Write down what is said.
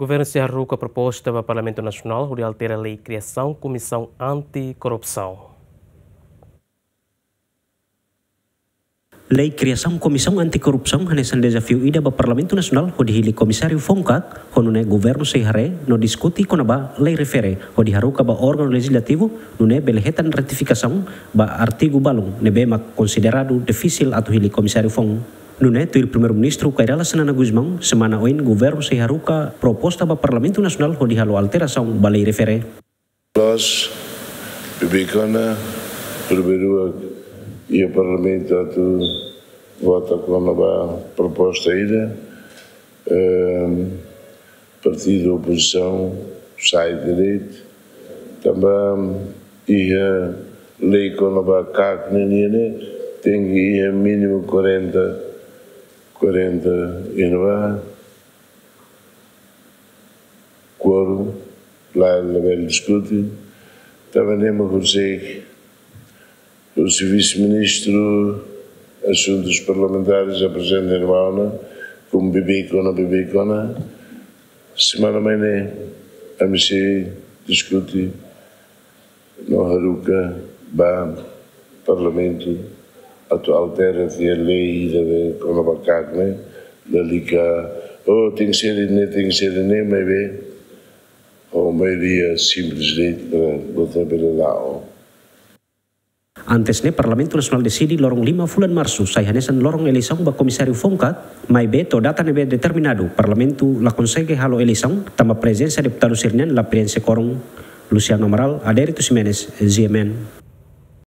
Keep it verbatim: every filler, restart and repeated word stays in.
Governu sei haruka proposta ba Parlamentu Nasionál hodi altera lei kriasaun Komisaun Anti-Korrupsaun. Lei kriasaun Komisaun Anti-Korrupsaun hanesan dezafiu ida ba Parlamentu Nasionál hodi hili Komisáriu Fongkak, ho nune'e governu sei haree no diskute kona-ba lei refere hodi haruka ba órgaun lejizlativu, nune'e bele hetan ratifikasaun ba artigu balun ne'ebé mak konsideradu difisil atu hili Komisáriu Foun. Nune'e tuir Primeiru-Ministru Kay Rala Xanana Gusmão, semana oin governu sei haruka proposta ba Parlamentu Nasionál hodi halo alterasaun ba lei refere. Loos, beibeik ona, primeiru iha Parlamentu atu vota kona-ba proposta ida, ehm, partidu opozisaun sai direta, tanba iha lei kona-ba CACNE nian ne'e, tenke iha mínimu kuarenta, kuarenta iha ne'ebá, kuorum, la, labele diskute, tanba ne'e mak horiseik, husi Vise-Ministru Asuntus Parlamentares aprezenta iha ne'ebá ona, komu beibeik ona, beibeik ona, semana mai ne'e, ami sei diskute, no haruka ba Parlamentu atu altera tiha lei ida be kona-ba CACNE, lalika, oh, tenke ser ne'e, tenke ser ne'e, maibé ho maioria simples de'it para vota bele la'o. Antes ne'e, Parlamentu Nasionál deside loron lima fulan Marsu sai hanesan loron eleisaun ba Komisáriu Fongkak, maibé to'o data ne'ebé determinadu, Parlamentu la konsege halo eleisaun, tanba prezensa deputadu sira-nian la preenxe kuorum. Luciano Amaral, Adérito Ximenes, G M N.